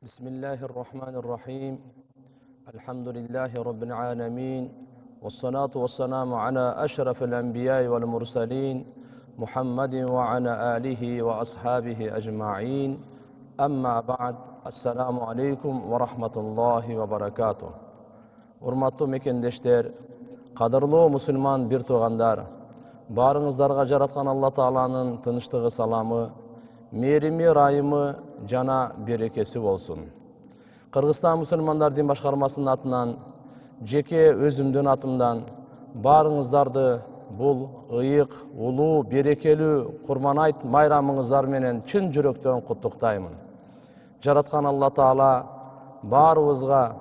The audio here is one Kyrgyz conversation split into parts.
Bismillahirrahmanirrahim. Elhamdülillahi Rabbil alemin. Vessalatu vesselamu ala eşrefil enbiya'i vel mursalin. Muhammedin ve ala alihi ve ashabihi ecma'in. Amma ba'd. Assalamu aleykum ve rahmetullahi ve berekatuh. Urmatlı mekendeshler, qadırlı musulman bir tuğandar, barыңыздарга жараткан Алла Тааланын тынычтыгы, саламы, мээрими, райымы жана берекеси болсун. Кыргызстан мусулмандар дин башкармасынын атынан, жеке өзүмдүн атымдан барыңыздарды бул ыйык, улуу, берекелүү Курман айт майрамыңыздар менен чын жүрөктөн куттуктаймын. Жараткан Алла Таала баарыбызга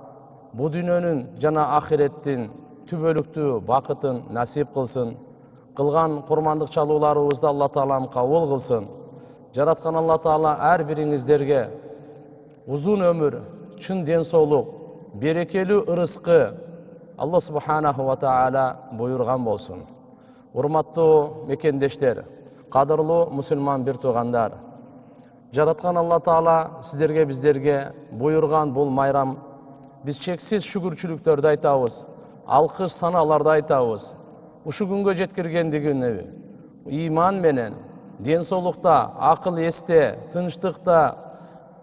бу дүйнөнүн жана ахиреттин түбөлүктүү бакытын насип кылсын. Кылган курмандык чалууларыбызды Алла Таалам кабыл кылсын. Жараткан Алла Таала ар бириңиздерге узун өмүр, чын ден соолук, берекелүү ырыскы Алла Субханаху ва Таала буйрган болсун. Урматтуу мекендештер, кадырлуу мусулман бир туугандар, жараткан Алла Таала сиздерге, биздерге буйрган бул майрам биз чексиз шүгүрчүлүктөрдү айтабыз, алкыш саналарды айтабыз. Ушу күнгө жеткиргендигине иман менен, ден соолукта, акыл эсте, тынчтыкта,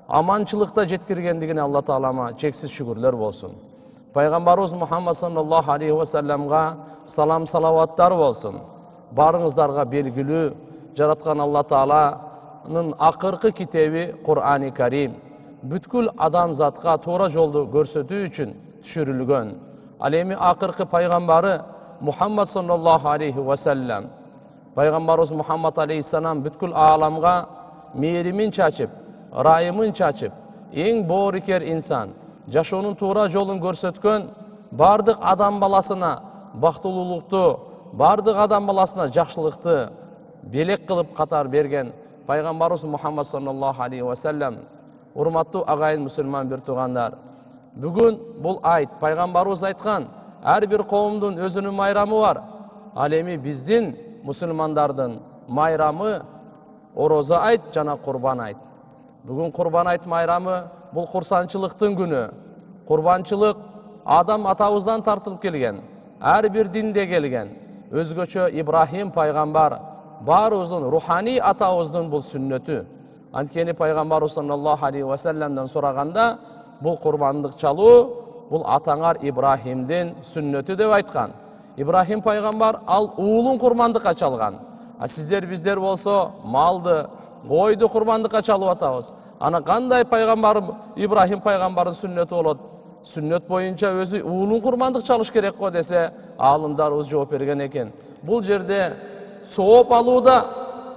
аманчылыкта жеткиргендигине Алла Таалама чексиз шүгүрлөр болсун. Пайгамбарыбыз Мухаммад саллаллаху алейхи ва салламга салам салаваттар болсун. Барыңыздарга белгилүү жараткан Алла Тааланын акыркы китеби Кур'ани Карим бүткүл адамзатка туура жолду көрсөтүү үчүн түшүрүлгөн. Ал эми акыркы пайгамбары Мухаммад саллаллаху алейхи ва саллам, пайгамбарыбыз Мухаммад алейхиссалам бүткүл ааламга мээримин чачып, райымын чачып, эң боорукер инсан, жашоонун туура жолун көрсөткөн, бардык адам баласына бактылуулукту, бардык адам баласына жакшылыкты белек кылып катар берген пайгамбарыбыз Мухаммад саллаллаху алейхи ва саллам. Урматтуу агайын мусулман бир туугандар, бүгүн бул айт, пайгамбарыбыз айткан, ар бир коомдун өзүнүн майрамы бар. Ал эми биздин мусулмандардын майрамы орозо айт жана курбан айт. Бүгүн курбан айт майрамы бул курсанчылыктын күнү. Курбанчылык Адам атабыздан тартылып келген, ар бир динде келген. Өзгөчө Ибрахим пайгамбар баарыбыздын руханий атабыздын бул сүннөтү. Анткени пайгамбарыбыз саллаллаху алейхи ва салламдан сураганда бул курбандык чалуу бул атаңар Ибрахимдин сүннөтү деп айткан. Ибрахим пайгамбар ал уулун курмандыкка чалган. А сиздер биздер болсо малды, койду курмандыкка чалып атабыз. Ана кандай пайгамбар Ибрахим пайгамбардын сүннөтү болот? Сүннөт боюнча өзү уулун курмандык чалыш керек го десе, аалымдарыбыз жооп берген экен. Бул жерде сооп алууда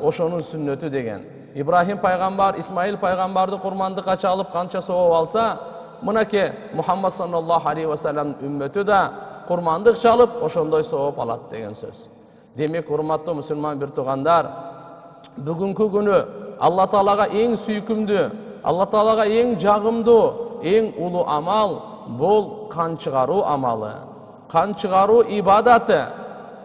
ошонун сүннөтү деген. Ибрахим пайгамбар Исмаил пайгамбарды курмандыкка чалып канча сооп алса, мынакей Мухаммад саллаллаху алейхи ва саллам үммөтү да курмандык чалып ошондой сооп алат деген сөз. Демек, урматтуу мусулман бир туугандар, бүгүнкү күнү Алла Таалага эң сүйкүмдүү, Алла Таалага эң жагымдуу, эң улуу амал бул кан чыгаруу амалы. Кан чыгаруу ибадаты.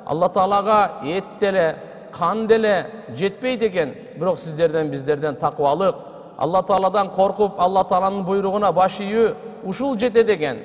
Алла Таалага эт деле, кан деле жетпейт экен, бирок сиздерден биздерден такыбалык, Алла Тааладан коркуп, Алла Тааланын буйругуна баш ийүү ушул жетет экен.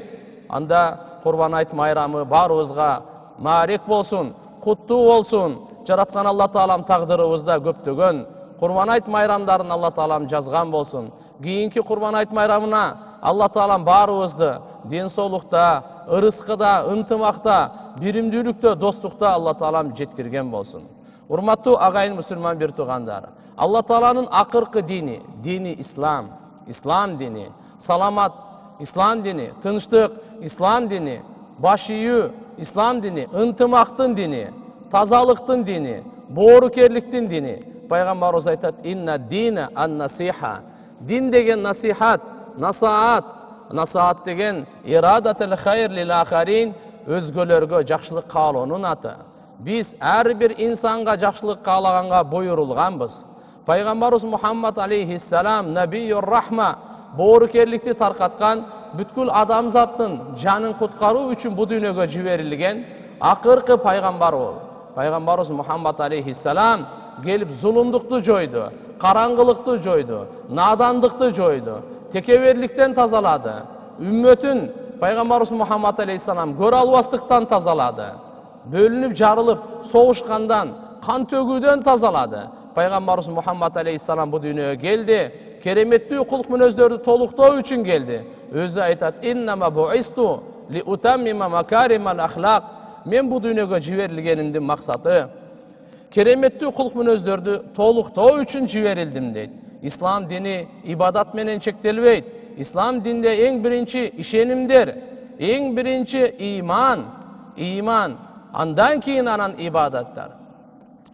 Анда курбан айт майрамы баарыбызга маарек болсун, куттуу болсун. Жараткан Алла Таалам тагдырыбызда көптөгөн курбан айт майрамдарын Алла Таалам жазган болсун. Кийинки курбан айт майрамына Алла Таалам баарыбызды ден соолукта, ырыскыда, ынтымакта, биримдүүлүктө, достукта Алла Таалам жеткирген болсун. Урматтуу агайын мусулман бир туугандар, Алла Тааланын акыркы дини, дини Ислам, Ислам дини, саламат Ислам дини, тынчтык Ислам дини, баш ийүү Ислам дини, ынтымактын дини, тазалыктын дини, боорукерликтин дини. Пайгамбарыбыз айтат: "Инна дина ан-насиха." Дин деген насихат, насаат, насаат деген ирадатул хайр лил ахарин, өзгөлөргө жакшылык каалоонун аты. Биз ар бир инсанга жакшылык каалаганга буйрулганбыз. Пайгамбарыбыз Мухаммад алейхиссалам набийюр рахма, боорукерликти таркаткан, бүткүл адамзаттын жанын куткаруу үчүн бу дүйнөгө жиберилген акыркы пайгамбар бол. Пайгамбарыбыз Мухаммад алейхиссалам келип зулумдукту жойду, караңгылыкты жойду, надандыкты жойду, tekebirlikten тазалады. Үммөтүн Пайгамбарыбыз Мухаммад алейхиссалам көрө албастыктан тазалады. Бөлүнүп жарылып согушкандан, кан төгүүдөн тазалады. Пайгамбарыбыз Мухаммад алейхиссалам бу дүйнөгө келди, кереметтүү кулк мүнөздөрдү толуктоо үчүн келди. Өзү айтат: "Иннама буисту ли утаммима макаримал ахлак." Мен бу дүйнөгө жиберилгенимдин максаты кереметтүү кулк мүнөздөрдү толуктоо үчүн жиберилдим дейт. Ислам дини ибадат менен чектелбейт. Ислам динде эң биринчи ишенимдер, эң биринчи иман, андан кийин анан ибадаттар.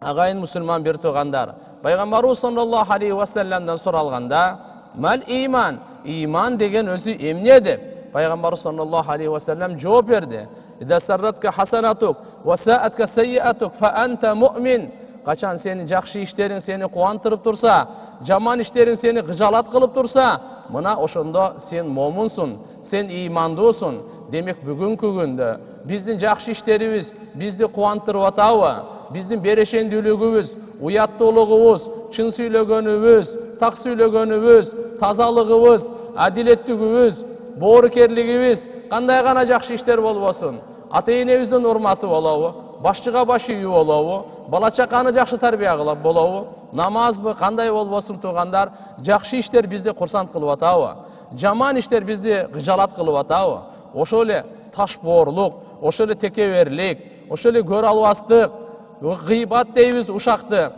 Агайын мусулман бир туугандар, Пайгамбарыбыз саллаллаху алейхи ва салламдан суралганда, "Мал иман?" Иман деген өзү эмне деп Пайгамбарыбыз саллаллаху алейхи ва саллам жооп берди. "Ида сарратка хасанатук ва саатка сайyiатук фа анта муъмин." Качан сени жакшы иштериң сени кубандырып турса, жаман иштериң сени кыжалат кылып турса, мына ошондо сен момунсуң, сен имандуусуң. Демек бүгүнкү күндө биздин жакшы иштерибиз бизди кубандырып атабы? Биздин берешендүүлүгүбүз, уяттуулугубуз, чын сүйлөгөнүбүз, так сүйлөгөнүбүз, тазалыгыбыз, адилеттүүлүгүбүз, боорукерлигибиз кандай гана жакшы иштер болбосун? Ата-энебиздин урматы болобу? Башчыга баш ийүү болобу? Бала чаканы жакшы тарбия кылып болобу? Намазбы кандай болбосун туугандар, жакшы иштер бизди курсант кылып атабы? Жаман иштер бизди кыжалат кылып атабы? Ошол эле ташбоорлук, ошол эле текеберлик, ошол эле көрө албастык, гыйбат дейбиз ушакты,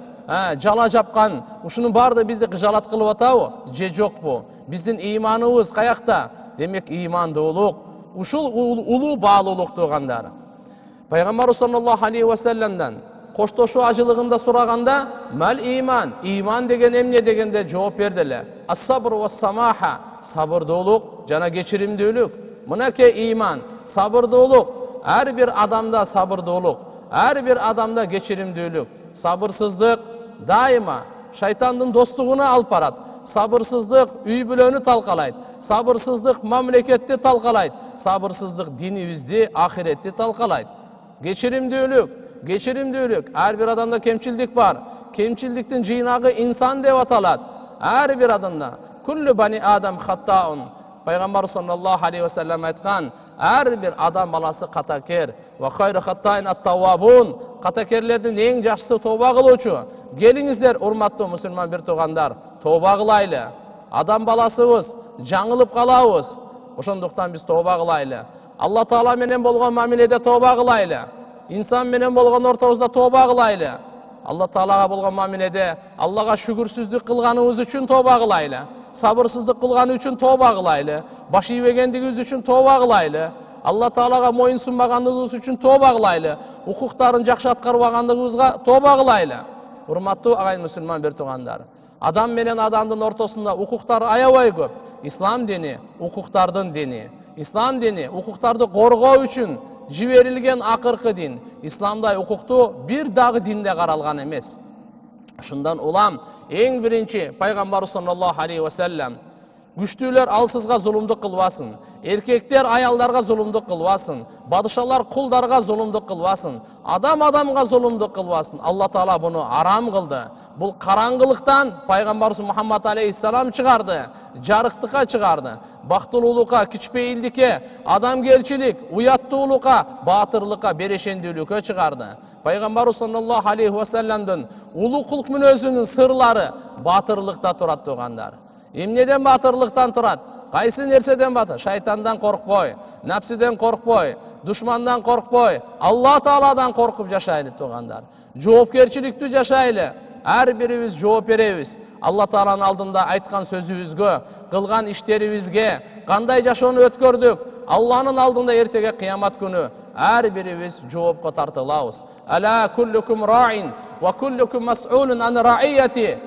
жала жапкан, ушунун баары бизди кыжалат кылып атабы? Же жокпу? Биздин иманыбыз каякта? Демек имандуулук, ушул улуу баалуулук туугандар. Пайгамбарыбыз саллаллаху алейхи ва салламдан коштошуу ажылыгында сураганда, "Мал иман?" Иман деген эмне дегенде жооп берди эле. "Ас-сабр ва самаха." Сабырдуулук жана кечиримдүүлүк. Мынакей иман, сабырдуулук. Ар бир адамда сабырдуулук, ар бир адамда кечиримдүүлүк. Сабырсыздык дайыма шайтандын достугуна алып барат. Сабырсыздык үй бүлөнү талкалайт. Сабырсыздык мамлекетти талкалайт. Сабырсыздык динибизди, ахиретти талкалайт. Кечиримдүүлүк. Ар бир адамда кемчилдик бар. Кемчилдиктин жыйнагы инсан деп аталат. Ар бир адамда. Куллу бани адам хаттаун. Пайгамбар саллаллаху алейхи ва саллам айткан, ар бир адам баласы катакер. Ва хайру хаттаин ат-таввабун. Катакерлердин эң жакшысы тооба кылуучу. Келиңиздер, урматтуу мусулман бир туугандар, тооба кылайлы. Адам баласыбыз, жаңылып калабыз. Ошондуктан биз тооба кылайлы. Алла Таала менен болгон мамиледе тооба кылайлы. Инсан менен болгон ортобузда тооба кылайлы. Алла Таалага болгон мамиледе Аллага шүгүрсүздүк кылганыбыз үчүн тооба кылайлы. Сабырсыздык кылганы үчүн тооба кылайлы. Баш ийбегендигибиз үчүн тооба кылайлы. Алла Таалага моюн сунбагандыгыбыз үчүн тооба кылайлы. Укуктарын жакшы аткарбагандыгыбызга тооба кылайлы. Урматтуу агайын мусулман бир туугандар, адам менен адамдын ортосунда укуктар аябай көп. Ислам дини укуктардын дини. Ислам дини укуктарды коргоо үчүн жиберилген акыркы дин. Исламдай укуктуу бир дагы динде каралган эмес. Шундан улам эң биринчи Пайгамбар саллаллаху алейхи ва саллам күчтүүлөр алсызга зулумдук кылбасын, эркектер аялдарга зулумдук кылбасын, падышалар кулдарга зулумдук кылбасын, адам адамга зулумдук кылбасын. Алла Таала буну арам кылды. Бул караңгылыктан Пайгамбарыбыз Мухаммад алейхиссалам чыгарды, жарыктыкка чыгарды. Бактылуулукка, кичпейилдикке, адамгерчилик, уяттуулукка, баатырлыкка, берешендүүлүккө чыгарды. Пайгамбарыбыз саллаллаху алейхи ва салламдын улуу кулк мүнөзүнүн сырлары баатырлыкта турат туугандар. Эмнеден баатырлыктан турат? Кайсы нерседен батыр? Шайтандан коркпой, напсиден коркпой, душмандан коркпой, Алла Тааладан коркуп жашайлы туугандар. Жоопкерчиликтүү жашайлы. Ар бирибиз жооп беребиз. Алла Тааланын алдында айткан сөзүбүзгө, кылган иштерибизге, кандай жашоону өткөрдүк, Алланын алдында эртеге кыямат күнү ар бирибиз жоопко тартылабыз. Ала куллукум раин ва куллукум мас'улун ан раияти.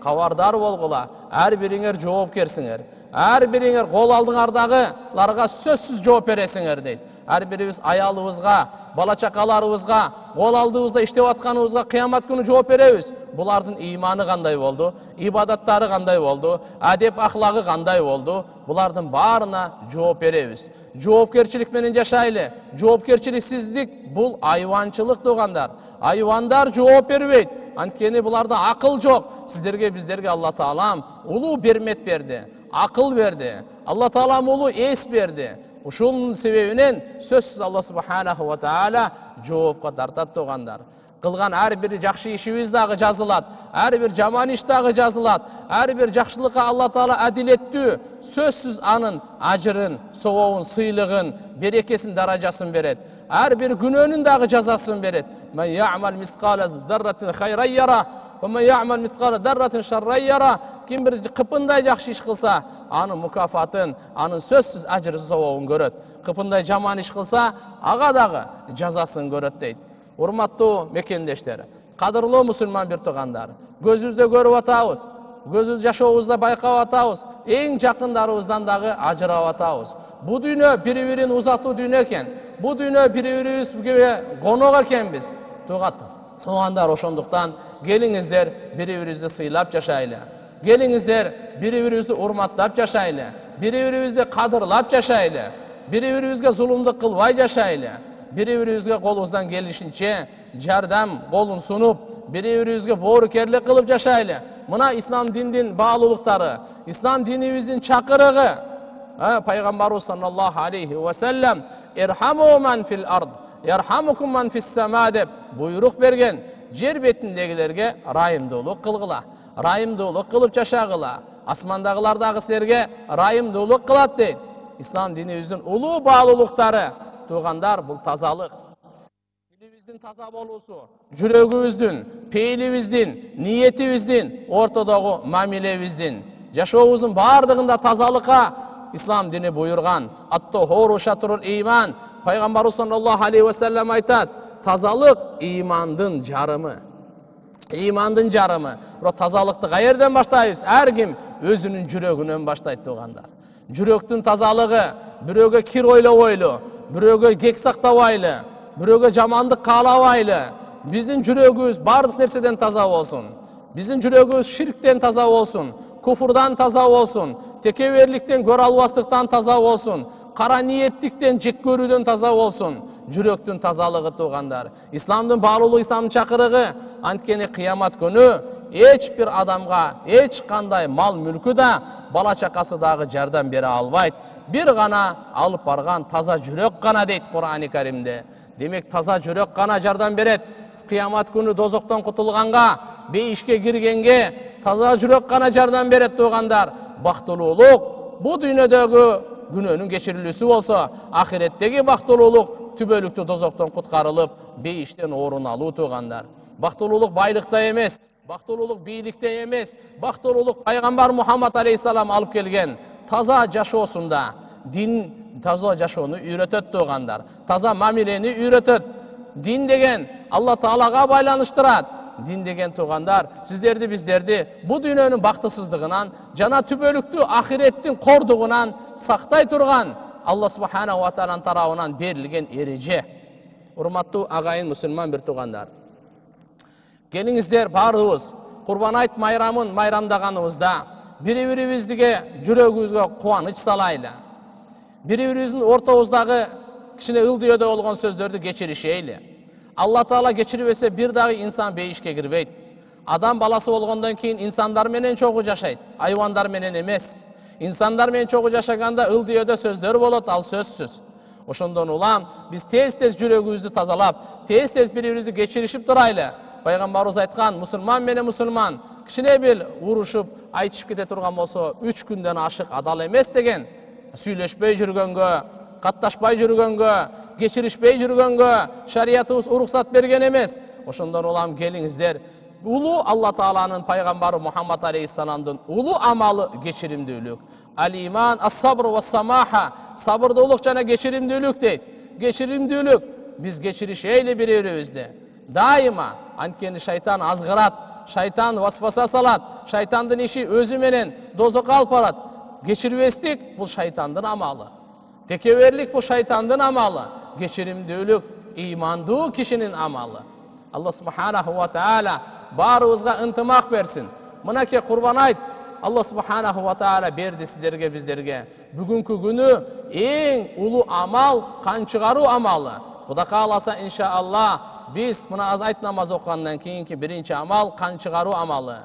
Кабардар болгула, ар бириңер жоопкерсиңер. Ар бириңер кол алдыңардагыларга сөзсүз жооп бересиңер дейт. Ар бирибиз аялыбызга, бала чакаларыбызга, кол алдыбызда иштеп атканыбызга кыямат күнү жооп беребиз. Булардын иманы кандай болду? Ибадаттары кандай болду? Адеп ахлагы кандай болду? Булардын баарына жооп беребиз. Жоопкерчилик менен жашайлы. Жоопкерчиликсиздик бул айванчылык туугандар. Айвандар жооп бербейт. Анткени буларда акыл жок. Сиздерге, биздерге Алла Таалам улуу бермет берди. акыл берди. Алла Таала улуу эс берди. Ушунун себебинен сөзсүз Алла субханаху ва таала жоопко тартат тугандар. Кылган ар бир жакшы ишибиз дагы жазылат, ар бир жаман иш дагы жазылат. Ар бир жакшылыкка Алла Таала адилеттүү, сөзсүз анын ажырын, сообун, сыйлыгын, берекесин, даражасын берет. Ар бир күнөөнүн дагы жазасын берет. Мен я'мал мисқала зарратин хайран яра, ва мен я'мал мисқала зарратин шарран яра. Ким бир кыпындай жакшы иш кылса, анын мукафатын, анын сөзсүз ажыры, сообун көрөт. Кыпындай жаман иш кылса, ага дагы жазасын көрөт дейт. Урматтуу мекендештер, кадырлуу мусулман бир туугандар, көзүбүздө көрүп атабыз, көзүбүз жашообузда байкап атабыз, эң жакындарыбыздан дагы ажырап атабыз. Бу дүйнө бири-бирин узатуу дүйнө экен. Бу дүйнө бири-бирибизге конок экенбиз. Туугандар, ошондуктан келиңиздер бири-бирибизди сыйлап жашайлы. Келиңиздер бири-бирибизди урматтап жашайлы. Бири-бирибизди кадырлап жашайлы. Бири-бирибизге зулумдук кылбай жашайлы. Бири-бирибизге колубуздан келишинче жардам колун сунуп, бири-бирибизге боорукерлик кылып жашайлы. Мына ислам диндин баалуулуктары, ислам динибиздин чакырыгы. Пайгамбарыбыз саллаллаху алейхи ва саллям ирхаму ман фил ард, ярхамукум ман фис сама деп буйрук берген. Жер бетиндегилерге райымдуулук кылгыла, райымдуулук кылып жашагыла. Асмандагылар дагы силерге райымдуулук кылат дейт. Ислам динибиздин улуу баалуулуктары. Тугандар, бул тазалык. Дилибиздин таза болуусу, жүрөгүбүздүн, пейилибиздин, ниетибиздин, ортодогу мамилебиздин, жашообуздун баардыгында тазалыкка ислам дини буйрган. Ат-тахуру шатрул иман. Пайгамбарыбыз саллаллаху алейхи ва саллям айтат, тазалык имандын жарымы. Имандын жарымы. Бирок тазалыкты каерден баштайбыз? Ар ким өзүнүн жүрөгүнөн баштайт тугандар. Жүрөктүн тазалыгы, бирөөгө кир ойлобойлу, бирөөгө кек сактабайлы, бирөөгө жамандык каалабайлы. Биздин жүрөгүбүз бардык нерседен таза болсун. Биздин жүрөгүбүз ширктен таза болсун, куфурдан таза болсун, текеберликтен, көрө албастыктан таза болсун, кара ниеттиктен, жек көрүүдөн таза болсун. Жүрөктүн тазалыгы тугандар. Исламдын баалуулугу, исламдын чакырыгы. Анткени кыямат күнү эч бир адамга эч кандай мал мүлкү да, бала чакасы дагы жардам бере албайт. Бир гана алып барган таза жүрөк гана дейт Кур'ани Каримде. Демек таза жүрөк гана жардам берет. Кыямат күнү дозоктон кутулганга, бейишке киргенге таза жүрөк гана жардам берет тугандар. Бактылуулук бу дүйнөдөгү күнөөнүн кечирилүүсү болсо, ахиреттеги бактылуулук түбөлүктүү дозоктон куткарылып, бейиштен орун алуу тугандар. Бактылуулук байлыкта эмес, бактылуулук бийликте эмес, бактылуулук пайгамбар Мухаммад алейхиссалам алып келген таза жашоосунда. Дин таза жашоону үйрөтөт тугандар. Таза мамилени үйрөтөт. Дин деген Алла Таалага байланыштырат. Дин деген тугандар, сиздерди, биздерди бу дүйнөнүн бактысыздыгынан жана түбөлүктүү ахиреттин кордугунан сактай турган Алла субханаху ва тааланын тарабынан берилген эреже. Урматтуу агайын мусулман бир тугандар, келиңиздер баарыбыз Курбан айт майрамын майрамдаганыбызда бири-бирибизге жүрөгүбүзгө кубаныч салайлы. Бири-бирибиздин ортобуздагы кичине ылдыйөдө болгон сөздөрдү кечиришейли. Алла Таала кечирбесе бир дагы инсан бейишке кирбейт. Адам баласы болгондон кийин инсандар менен чогуу жашайт, айвандар менен эмес. Инсандар менен чогуу жашаганда ылдыйөдө сөздөр болот, ал сөзсүз. Ошондон улам биз тез-тез жүрөгүбүздү тазалап, тез-тез бири-бирибизди кечиришип турайлы. Пайгамбарыбыз айткан, мусулман менен мусулман кичине бир урушуп, айтышып кете турган болсо 3 күндөн ашык адал эмес деген. Сүйлөшпөй жүргөнгө, катташпай жүргөнгө, кечиришпей жүргөнгө шариятыбыз уруксат берген эмес. Ошондон улам келиңиздер, улуу Алла Тааланын пайгамбары Мухаммад алейхиссаламдын улуу амалы кечиримдүүлүк. Ал-иман ас-сабр ва-самаха, сабырдуулук жана кечиримдүүлүк дейт. Кечиримдүүлүк, биз кечиришейли бири-бирибизди. Дайыма, анткени шайтан азгырат, шайтан васваса салат, шайтандын иши өзү менен дозокко алып барат. Кечирбестик бул шайтандын амалы. Текеберлик бул шайтандын амалы. Кечиримдүүлүк имандуу кишинин амалы. Алла субханаху ва таала баарыбызга ынтымак берсин. Мынакей Курбан айт Алла субханаху ва таала берди сиздерге, биздерге. Бүгүнкү күнү эң улуу амал кан чыгаруу амалы. Кудай кааласа иншаалла биз мына айт намаз окугандан кийинки биринчи амал кан чыгаруу амалы.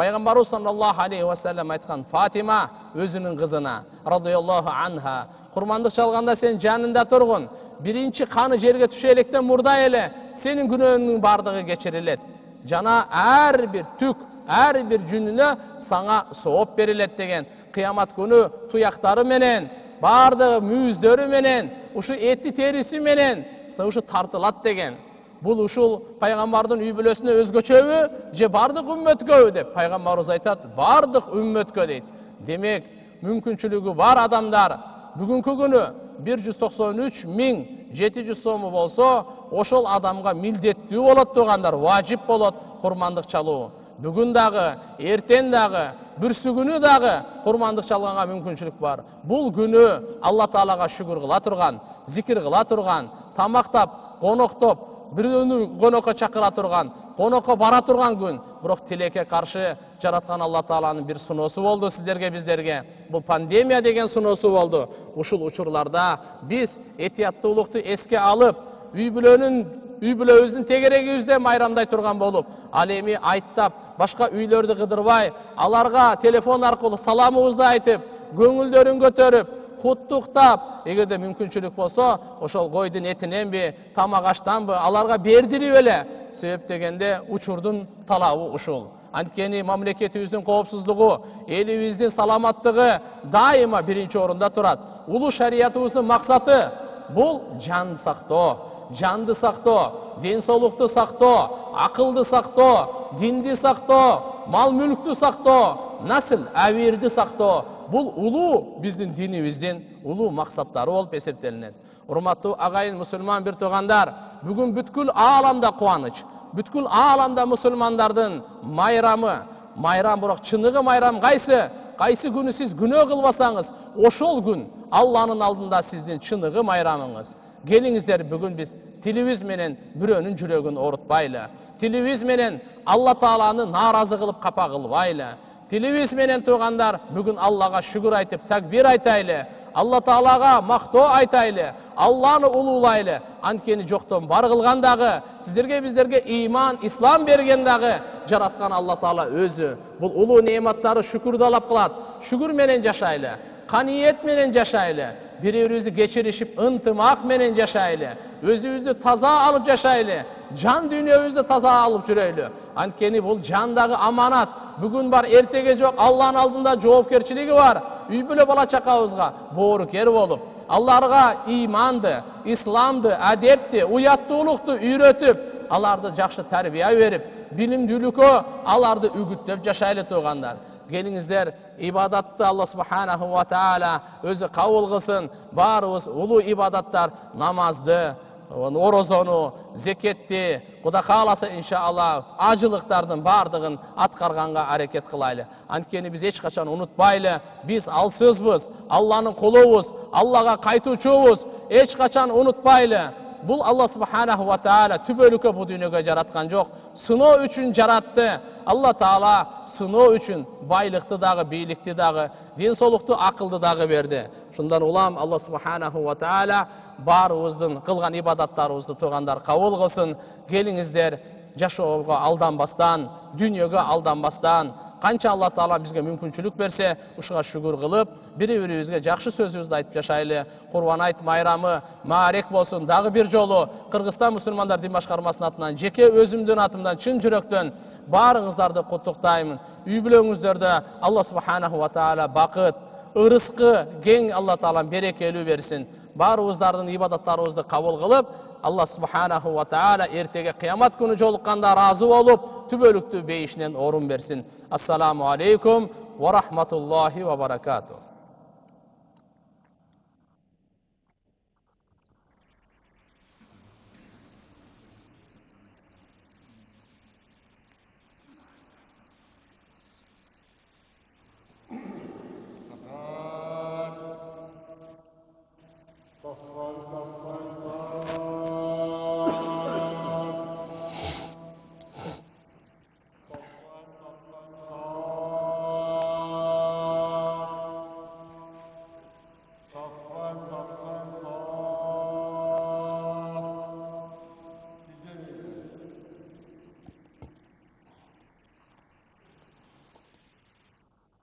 Пайгамбарыбыз саллаллаху алейхи ва саллям айткан: Фатима өзүнүн кызына радияллаху анха, курмандык чалганда сен жанында тургун, биринчи каны жерге түшө электен мурда эле сенин күнөөнүң бардыгы кечирилет. Жана ар бир түк, ар бир жүнүнө саңа сооп берилет деген. Кыямат күнү туяктары менен, бардыгы мүйүздөрү менен, ушу эти териси менен ушу тартылат деген. Бул ушул пайгамбардын үй бүлөсүнө өзгөчөбү же бардык үммөткөбү деп пайгамбарыбыз айтат: бардык үммөткө дейт. Демек, мүмкүнчүлүгү бар адамдар бүгүнкү күнү 193.700 сому болсо, ошол адамга милдеттүү болот тугандар, важип болот курмандык чалуу. Бүгүн дагы, эртең дагы, бүрсүгүнү дагы курмандык чалганга мүмкүнчүлүк бар. Бул күнү Алла Таалага шүгүр кыла турган, зикир кыла турган, тамактап, коноктоп, бирөөнү конокко чакыра турган, конокко бара турган күн. Бирок тилекке каршы жараткан Алла Тааланын бир суноосу болду сиздерге, биздерге. Бул пандемия деген суноосу болду. Ушул учурларда биз этияттуулукту эске алып, үй бүлөбүздүн тегерегибизде майрамдай турган болуп, ал эми айттап, башка үйлөрдү кыдырбай, аларга телефон аркылуу саламыбызды айтып, көңүлдөрүн көтөрүп, куттуктап, эгерде мүмкүнчүлүк болсо, ошол койдун этиненби, тамак аштанбы аларга бердирип эле. Себеп дегенде учурдун талабы ушул. Анткени мамлекетибиздин коопсуздугу, элибиздин саламаттыгы дайыма биринчи орунда турат. Улуу шариятыбыздын максаты бул жан сактоо, жанды сактоо, ден соолукту сактоо, акылды сактоо, динди сактоо, мал мүлктү сактоо, насыл абийирди сактоо. Бул улуу биздин динибиздин улуу максаттары болуп эсептелинет. Урматтуу агайын мусулман бир туугандар, бүгүн бүткүл ааламда кубаныч, бүткүл ааламда мусулмандардын майрамы. Майрам, бирок чыныгы майрам кайсы? Кайсы күнү сиз күнөө кылбасаңыз, ошол күн Алланын алдында сиздин чыныгы майрамыңыз. Келиңиздер, бүгүн биз тилибиз менен бирөөнүн жүрөгүн оорутпайлы. Тилибиз менен Алла Тааланы нааразы кылып капа кылбайлы. Тилибиз менен туугандар, бүгүн Аллага шүгүр айтып, такбир айтайлы. Алла Таалага мактоо айтайлы. Алланы улуулайлы. Анткени жоктон бар кылган дагы, сиздерге, биздерге иман, ислам берген дагы жараткан Алла Таала өзү. Бул улуу неаматтары шүкүрдалап кылат. Шүгүр менен жашайлы, каниет менен жашайлы. Бири-бирибизди кечиришип, ынтымак менен жашайлы. Өзүбүздү таза алып жашайлы. Жан дүйнөбүздү таза алып жүрөйлү. Анткени бул жандагы аманат. Бүгүн бар, эртеге жок. Алланын алдында жоопкерчилиги бар. Үй бүлө бала чакабызга боорукер болуп, аларга иманды, исламды, адепти, уяттуулукту үйрөтүп, аларды жакшы тарбия берип, билимдүүлүккө аларды үгүттөп жашайлы туугандар. Келиңиздер, ибадатты Алла субханаху ва таала өзү кабыл кылсын. Баарыбыз улуу ибадаттар, намазды, орозону, зекетти, Кудай кааласа иншалла ажылыктардын бардыгын аткарганга аракет кылайлы. Анткени биз эч качан унутпайлы, биз алсызбыз, Алланын кулубуз, Аллага кайтуучубуз. Эч качан унутпайлы. Бул Алла субханаху ва таала түбөлүккө бу дүйнөгө жараткан жок. Сыноо үчүн жаратты. Алла Таала сыноо үчүн байлыкты дагы, бийликти дагы, ден соолукту, акылды дагы берди. Шундан улам Алла субханаху ва таала баарыбыздын кылган ибадаттарыбызды туугандар кабыл кылсын. Келиңиздер, жашоого алданбастан, дүйнөгө алданбастан, канча Алла Таала бизге мүмкүнчүлүк берсе, ушуга шүгүр кылып, бири-бирибизге жакшы сөзүбүздү айтып жашайлы. Курбан айт майрамы маарек болсун. Дагы бир жолу Кыргызстан мусулмандар дин башкармасынын атынан, жеке өзүмдүн атымдан чын жүрөктөн баарыңыздарды куттуктаймын. Үй бүлөңүздөрдө Алла субханаху ва таала бакыт, ырыскы кең Алла Таалам берекелүү берсин. Баарыбыздардын ибадаттарыбызды кабыл кылып, Алла субханаху ва таала эртеге кыямат күнү жолукканда разы болуп, түбөлүктүү бейишинен орун берсин. Ассаламу алейкум ва рахматуллахи ва баракатуh.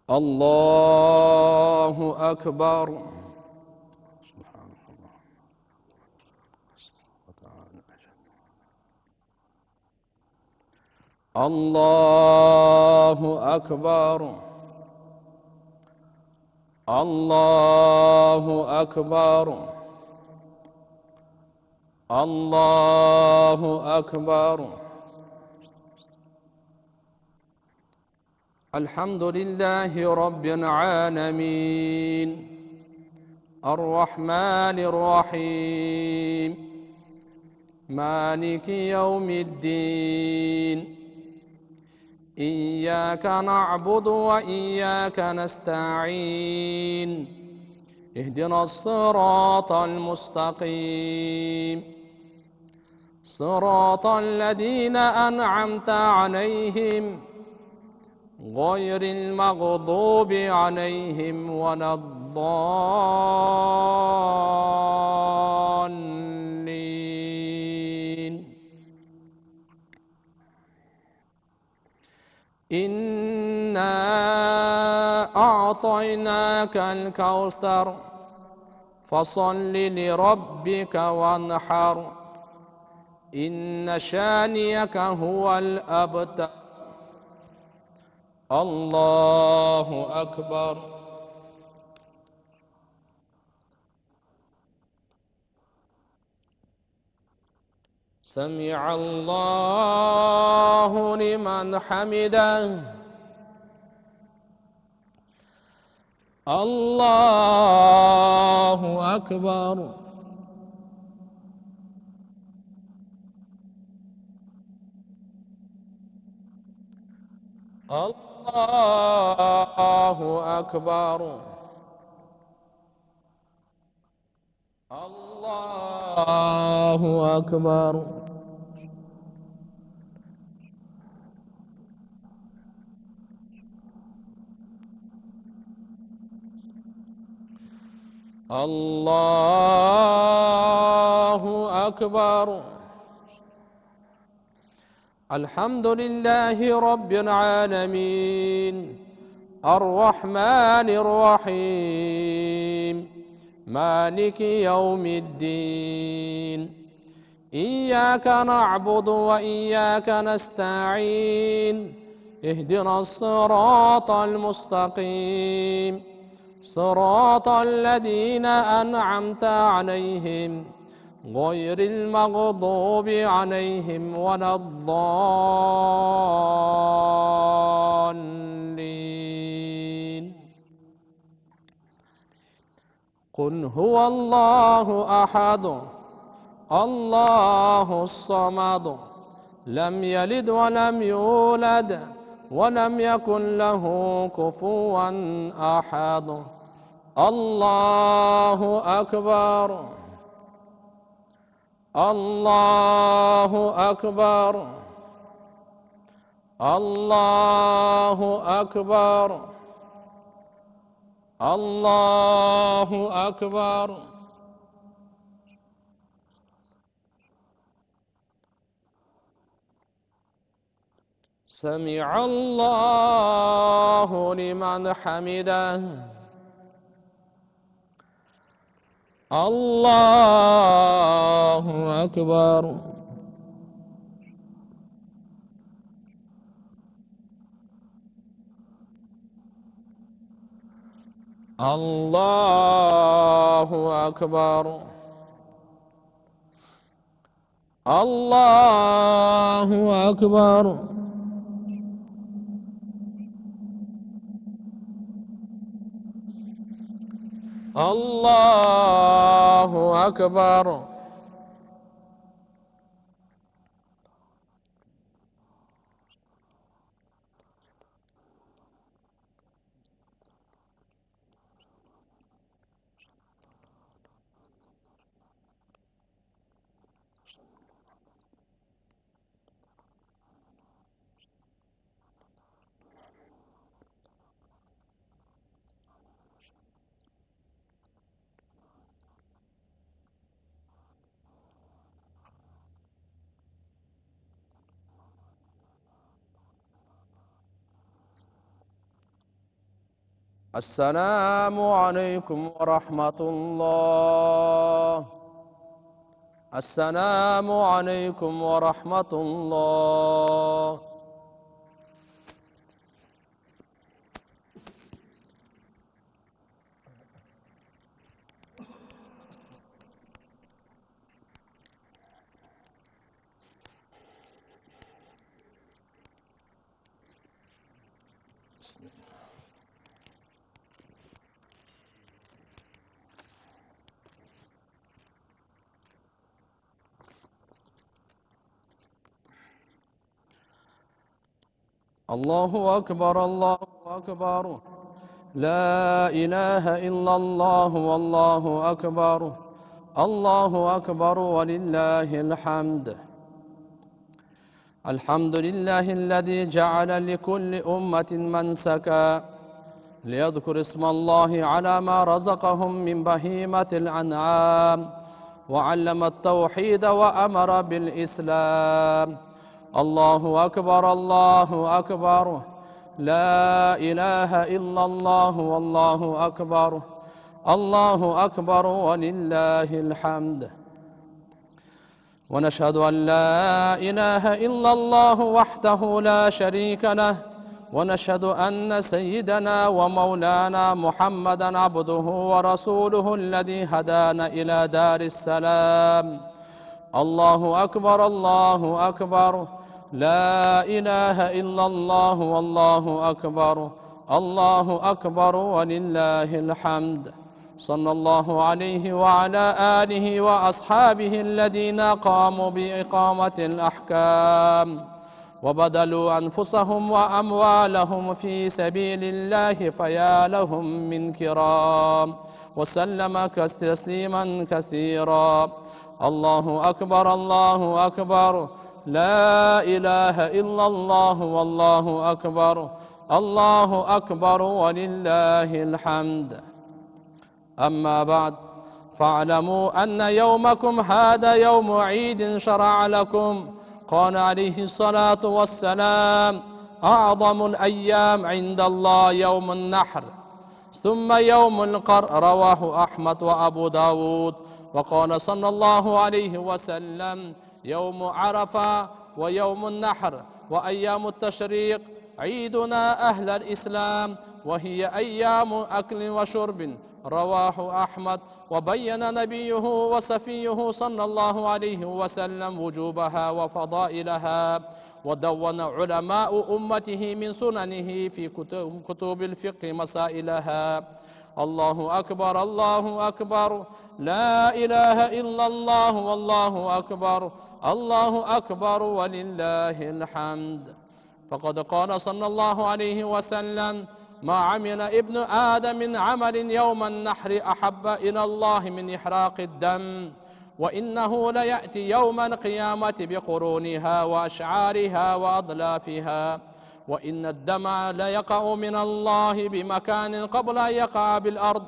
الله أكبر. الله أكبر. الله أكبر. الله أكبر. الحمد لله رب العالمين الرحمن الرحيم مالك يوم الدين إياك نعبد وإياك نستعين اهدنا الصراط المستقيم صراط الذين أنعمت عليهم غير المغضوب عليهم ولا الضالين. إنا أعطيناك الكوثر فصل لربك وانحر إن شانئك هو الأبتر. الله أكبر. سمع الله لمن حمده. الله أكبر. الله أكبر. الله أكبر. الله أكبر. الحمد لله رب العالمين الرحمن الرحيم مالك يوم الدين إياك نعبد وإياك نستعين اهدنا الصراط المستقيم صراط الذين أنعمت عليهم غير المغضوب عليهم ولا الضالين. قل هو الله أحد الله الصمد لم يلد ولم يولد ولم يكن له كفوا أحد. الله أكبر. الله أكبر. الله أكبر. الله أكبر. سمع الله لمن حمده. الله أكبر. الله أكبر. الله أكبر. الله أكبر. السلام عليكم ورحمة الله. السلام عليكم ورحمة الله. بسم الله. الله أكبر الله أكبر لا إله إلا الله والله أكبر الله أكبر ولله الحمد. الحمد لله الذي جعل لكل أمة منسكا ليذكر اسم الله على ما رزقهم من بهيمة الأنعام وعلم التوحيد وأمر بالإسلام. الله أكبر الله أكبر لا إله إلا الله والله أكبر الله أكبر ولله الحمد. ونشهد أن لا إله إلا الله وحده لا شريك له ونشهد أن سيدنا ومولانا محمدا عبده ورسوله الذي هدانا إلى دار السلام. الله أكبر الله أكبر لا إله إلا الله والله أكبر الله أكبر ولله الحمد. صلى الله عليه وعلى آله وأصحابه الذين قاموا بإقامة الأحكام وبذلوا أنفسهم وأموالهم في سبيل الله فيا لهم من كرام وسلم تسليما كثيرا. الله أكبر الله أكبر لا إله إلا الله والله أكبر الله أكبر ولله الحمد. أما بعد فاعلموا أن يومكم هذا يوم عيد شرع لكم. قال عليه الصلاة والسلام أعظم الأيام عند الله يوم النحر ثم يوم القر. رواه أحمد وأبو داود. وقال صلى الله عليه وسلم يوم عرفة ويوم النحر وأيام التشريق عيدنا أهل الإسلام وهي أيام أكل وشرب. رواه أحمد. وبين نبيه وصفيه صلى الله عليه وسلم وجوبها وفضائلها ودون علماء أمته من سننه في كتب الفقه مسائلها. الله أكبر الله أكبر لا إله إلا الله والله أكبر الله أكبر ولله الحمد. فقد قال صلى الله عليه وسلم ما عمل ابن آدم من عمل يوم النحر أحب إلى الله من إحراق الدم وإنه ليأتي يوم القيامة بقرونها وأشعارها وأضلافها وإن الدمع ليقع من الله بمكان قبل أن يقع بالأرض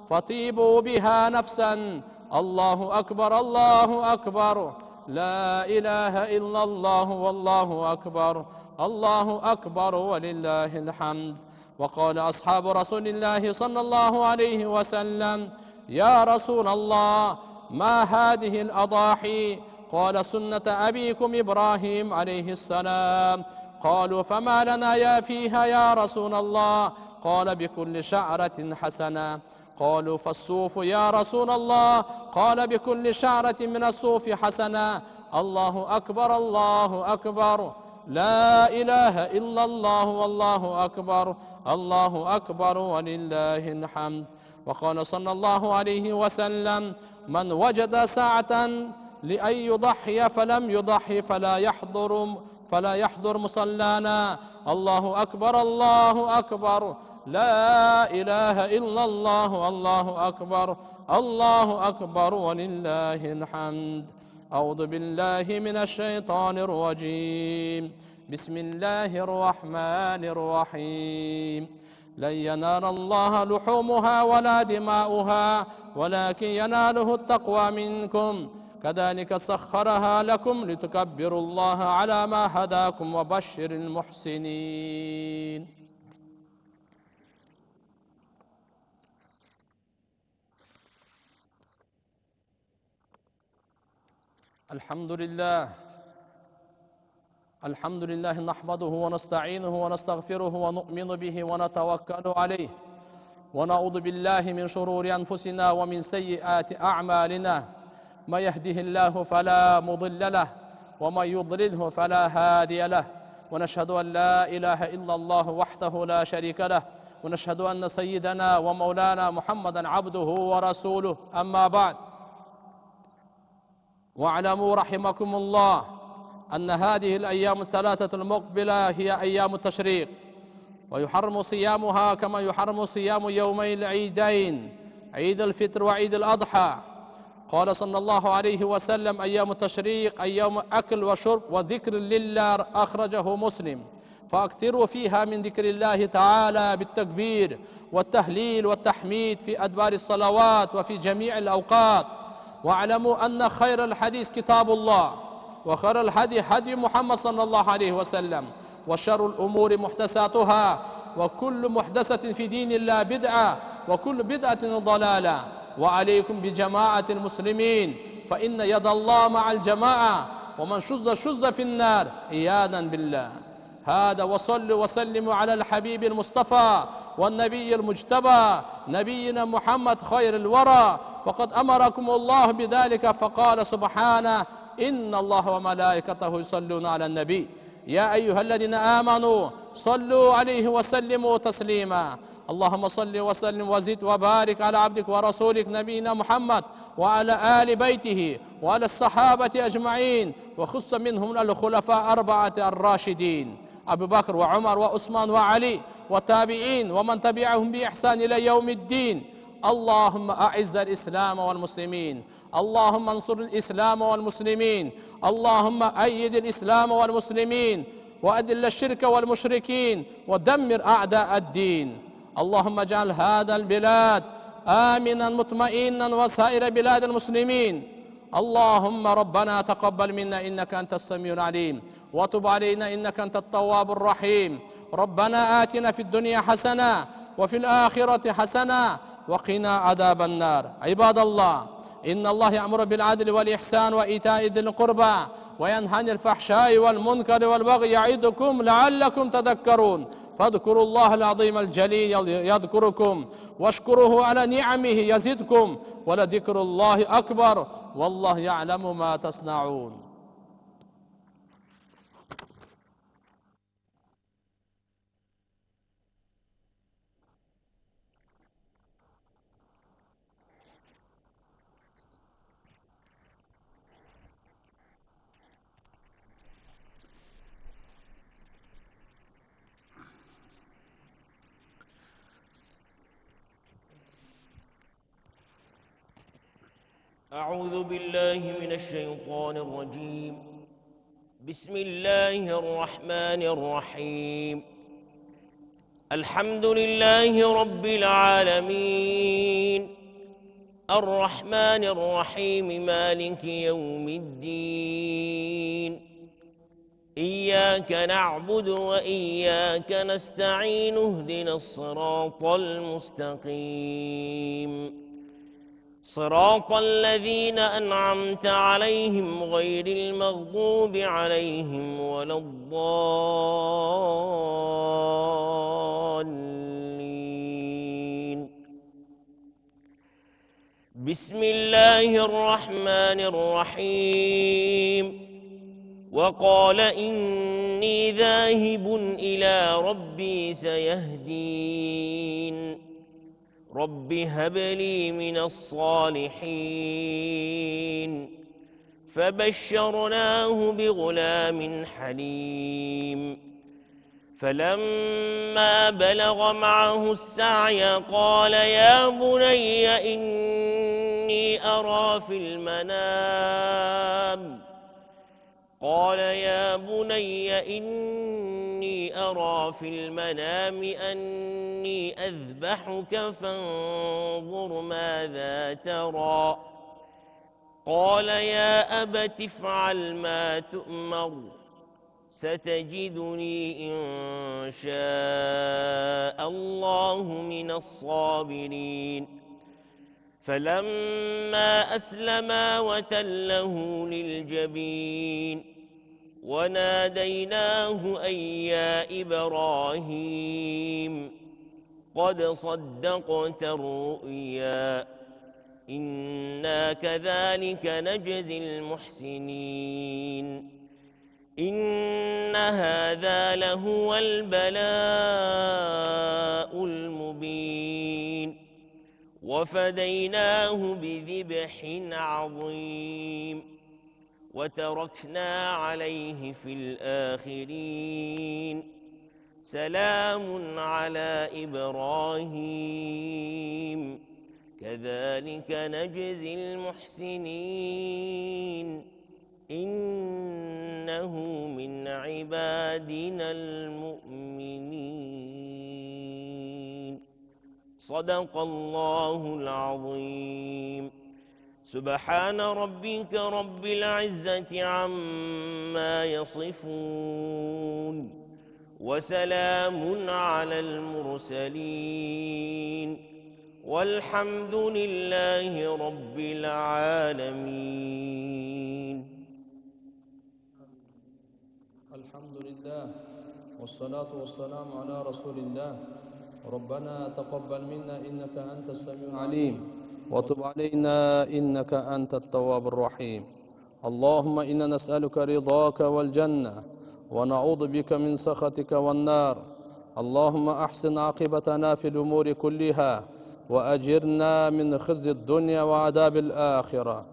فطيبوا بها نفسا. الله أكبر الله أكبر لا إله إلا الله والله أكبر الله أكبر ولله الحمد. وقال أصحاب رسول الله صلى الله عليه وسلم يا رسول الله ما هذه الأضاحي؟ قال سنة أبيكم إبراهيم عليه السلام. قالوا فما لنا يا فيها يا رسول الله؟ قال بكل شعرة حسنة. قالوا فالصوف يا رسول الله؟ قال بكل شعرة من الصوف حسنة. الله أكبر الله أكبر لا إله إلا الله والله أكبر الله أكبر ولله الحمد. وقال صلى الله عليه وسلم من وجد ساعة لأن يضحي فلم يضحي فلا يحضر مصلانا. الله أكبر الله أكبر لا إله إلا الله الله أكبر الله أكبر ولله الحمد. أعوذ بالله من الشيطان الرجيم. بسم الله الرحمن الرحيم. لن ينال الله لحومها ولا دماؤها ولكن يناله التقوى منكم. كذلك سخرها لكم لتكبروا الله على ما هداكم وبشر المحسنين. الحمد لله نحمده ونستعينه ونستغفره ونؤمن به ونتوكل عليه ونعوذ بالله من شرور أنفسنا ومن سيئات أعمالنا ما يهده الله فلا مضل له ومن يضلله فلا هادي له ونشهد أن لا إله إلا الله وحده لا شريك له ونشهد أن سيدنا ومولانا محمدا عبده ورسوله أما بعد واعلموا رحمكم الله أن هذه الأيام الثلاثة المقبلة هي أيام التشريق ويحرم صيامها كما يحرم صيام يومي العيدين عيد الفطر وعيد الأضحى. قال صلى الله عليه وسلم أيام التشريق أيام أكل وشرب وذكر لله أخرجه مسلم فأكثروا فيها من ذكر الله تعالى بالتكبير والتهليل والتحميد في أدبار الصلوات وفي جميع الأوقات. واعلموا أن خير الحديث كتاب الله وخير الهدي هدي محمد صلى الله عليه وسلم وشر الأمور محدثاتها وكل محدثة في دين الله بدعة وكل بدعة ضلالة. وعليكم بجماعة المسلمين فإن يد الله مع الجماعة ومن شذ في النار عياذا بالله. هذا وصلوا وسلموا على الحبيب المصطفى والنبي المجتبى نبينا محمد خير الورى فقد أمركم الله بذلك فقال سبحانه إن الله وملائكته يصلون على النبي يا أيها الذين آمنوا صلوا عليه وسلموا تسليما. اللهم صل وسلم وزد وبارك على عبدك ورسولك نبينا محمد وعلى آل بيته وعلى الصحابة أجمعين وخص منهم الخلفاء أربعة الراشدين أبي بكر وعمر وعثمان وعلي والتابعين ومن تبعهم بإحسان إلى يوم الدين. اللهم أعز الإسلام والمسلمين اللهم انصر الإسلام والمسلمين اللهم أيد الإسلام والمسلمين وأذل الشرك والمشركين ودمر أعداء الدين. اللهم اجعل هذا البلاد آمنا مطمئنا وسائر بلاد المسلمين. اللهم ربنا تقبل منا إنك أنت السميع العليم وتب علينا إنك أنت التواب الرحيم. ربنا آتنا في الدنيا حسنة وفي الآخرة حسنة وقنا عذاب النار. عباد الله إن الله يأمر بالعدل والإحسان وإيتاء ذي القربى وينهى عن الفحشاء والمنكر والبغي يعظكم لعلكم تذكرون فاذكروا الله العظيم الجليل يذكركم واشكروه على نعمه يزدكم ولذكر الله أكبر والله يعلم ما تصنعون. أعوذ بالله من الشيطان الرجيم. بسم الله الرحمن الرحيم. الحمد لله رب العالمين الرحمن الرحيم مالك يوم الدين إياك نعبد وإياك نستعين اهدنا الصراط المستقيم صراط الذين أنعمت عليهم غير المغضوب عليهم ولا الضالين. بسم الله الرحمن الرحيم. وقال إني ذاهب إلى ربي سيهدين رب هب لي من الصالحين فبشرناه بغلام حليم. فلما بلغ معه السعي قال يا بني إني أرى في المنام أني أذبحك فانظر ماذا ترى. قال يا أبت افعل ما تؤمر ستجدني إن شاء الله من الصابرين. فلما أسلما وتله للجبين وناديناه أن يا إبراهيم قد صدقت الرؤيا إنا كذلك نجزي المحسنين إن هذا لهو البلاء المبين وفديناه بذبح عظيم وتركنا عليه في الآخرين سلام على إبراهيم كذلك نجزي المحسنين إنه من عبادنا المؤمنين صدق الله العظيم سبحان ربك رب العزة عما يصفون وسلام على المرسلين والحمد لله رب العالمين. الحمد لله والصلاة والسلام على رسول الله. ربنا تقبل منا إنك أنت السميع العليم وتب علينا إنك أنت التواب الرحيم. اللهم إنا نسألك رضاك والجنة ونعوذ بك من سخطك والنار. اللهم أحسن عاقبتنا في الأمور كلها وأجرنا من خزي الدنيا وعذاب الآخرة.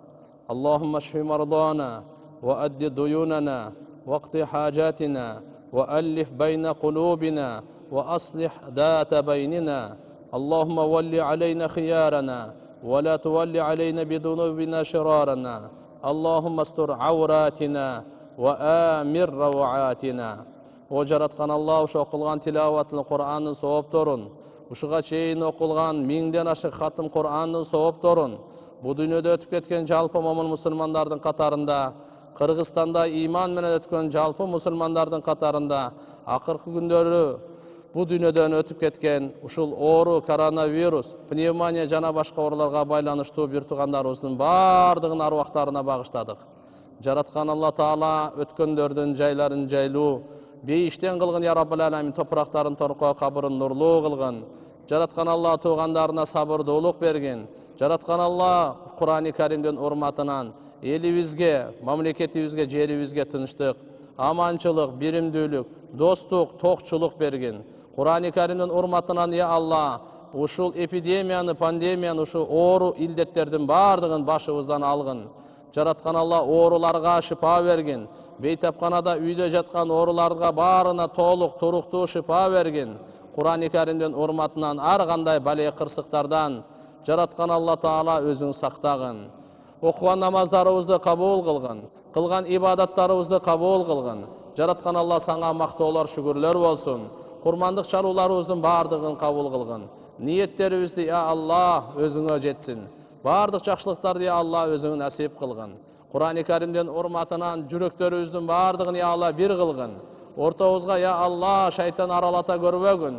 اللهم اشف مرضانا وأد ديوننا واقض حاجاتنا وألف بين قلوبنا وأصلح ذات بيننا. اللهم ول علينا خيارنا ولا تول علينا بذنوبنا شرارنا. اللهم استر عوراتنا وآمر روعاتنا. Жараткан Аллах ушу окулган тилаваттын Кур'андын соопторун, ушуга чейин окулган 1000ден ашык хатым Кур'андын соопторун бу дүйнөдө өтүп кеткен жалпы момун мусулмандардын катарында, Кыргызстанда иман менен өткөн жалпы мусулмандардын катарында акыркы күндөрү бу дүйнөдөн өтүп кеткен ушул оору, коронавирус, пневмония жана башка ооруларга байланыштуу бир туугандарыбыздын бардыгын аруактарына багыштадык. Жараткан Алла Таала өткөндөрдүн жайларын жайлуу, бейиштен кылгын я Раббыл Аламин, топурактарын торко, кабырын нурлуу кылгын. Жараткан Алла туугандарына сабырдуулук бергин. Жараткан Алла Кур'ани Каримдин урматынан элибизге, мамлекетибизге, жерибизге тынчтык, аманчылык, биримдүүлүк, достук, токчулук бергин. Кур'ани Каримдин урматынан я Алла ушул эпидемияны, пандемияны, ушул оору илдеттердин бардыгын башыбыздан алгын. Жараткан Алла ооруларга шифа бергин. Бейтапканада үйдө жаткан ооруларга баарына толук, туруктуу шифа бергин. Кур'ани Каримдин урматынан ар кандай бале кырсыктардан жараткан Алла Таала өзүң сактагын. Окуган намаздарыбызды кабыл кылгын. Кылган ибадаттарыбызды кабыл кылгын. Жараткан Алла саңа мактоолор, шүгүрлөр болсун. Курмандык чарууларыбыздын бардыгын кабыл кылгын. Ниеттерибизди я Алла өзүңө жетсин. Бардык жакшылыктарды я Алла өзүң насип кылгын. Кур'ани Каримдин урматынан жүрөктөрүбүздүн бардыгын я Алла бир кылгын. Ортобузга я Алла шайтан аралата көрбөгүн.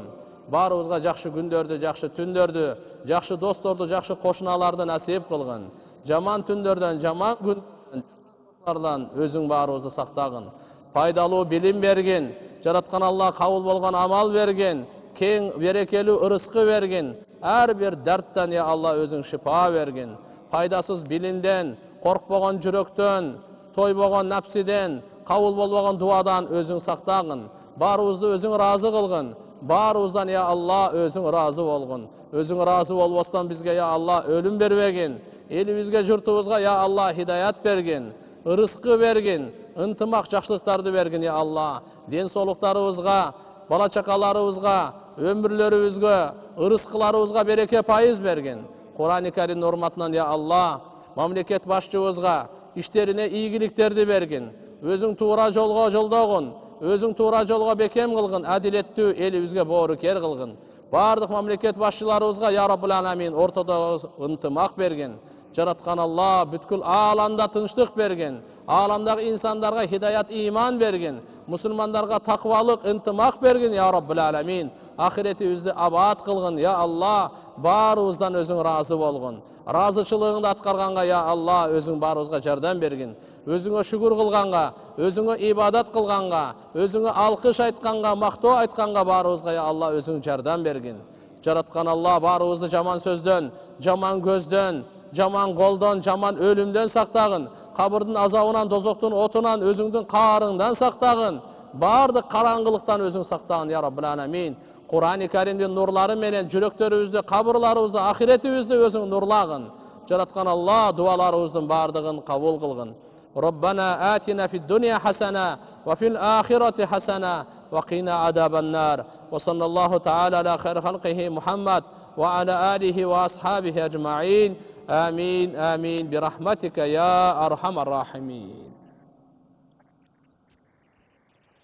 Баарыбызга жакшы күндөрдү, жакшы түндөрдү, жакшы досторду, жакшы кошуналарды насип кылгын. Жаман түндөрдөн, жаман күндөрдөн өзүң баарыбызды сактагын. Пайдалуу билим бергин. Жараткан Алла кабыл болгон амал берген, кең берекелүү ырыскы берген. Ар бир дарттан я Алла өзүң шифа бергин. Пайдасыз билимден, коркпогон жүрөктөн, тойбогон напсиден, кабыл болбогон дуадан өзүң сактагын. Баарыбызды өзүң ыраазы кылгын. Баарыбыздан я Алла өзүң ыраазы болгун. Өзүң ыраазы болбостон бизге я Алла өлүм бербегин. Элибизге, журтубузга я Алла хидаят бергин. Ырыскы бергин. Ынтымак, жакшылыктарды бергин я Алла. Ден соолуктарыбызга, бала чакаларыбызга, өмүрлөрүбүзгө, ырыскыларыбызга береке пайыз бергин. Кур'ани Карим урматынан я Алла мамлекет башчыбызга иштерине ийгиликтерди бергин. Өзүң туура жолго жолдогун. Өзүң туура жолго бекем кылгын, адилеттүү элибизге боорукер кылгын. Бардык мамлекет башчыларыбызга я Раббул аламин ортодо ынтымак берген. Жараткан Алла бүткүл ааламда тынчтык берген. Ааламдагы инсандарга хидаят иман берген. Мусулмандарга таквалык ынтымак берген я Раббул аламин. Ахиретибизди абад кылгын я Алла. Баарыбыздан өзүң разы болгон. Разычылыгыңды аткарганга я Алла өзүң баарыбызга жардам бергин. Өзүңө шүгүр кылганга, өзүңө ибадат кылганга, өзүңө алкыш айтканга, мактоо айтканга баарыбызга я Алла өзүң жардам бергин. Жараткан Алла баарыбызды жаман сөздөн, жаман көздөн, жаман колдон, жаман өлүмдөн сактагын. Кабырдын азабынан, дозоктун отунан, өзүңдүн каарыңдан сактагын. Бардык караңгылыктан өзүң сактагын я Раббул аламин. Кур'ан-ы Каримдин нурлары менен жүрөктөрүбүздү, кабырларыбызды, ахиретибизди өзүң нурлагын. Жараткан Алла дуаларыбыздын бардыгын кабыл кылгын. ربنا آتنا في الدنيا حسنة وفي الآخرة حسنة وقنا عذاب النار وصلى الله تعالى على خير خلقه محمد وعلى آله وأصحابه أجمعين آمين آمين برحمتك يا أرحم الراحمين.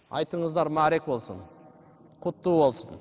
Айтыңыздар марек болсын, куттуу болсын.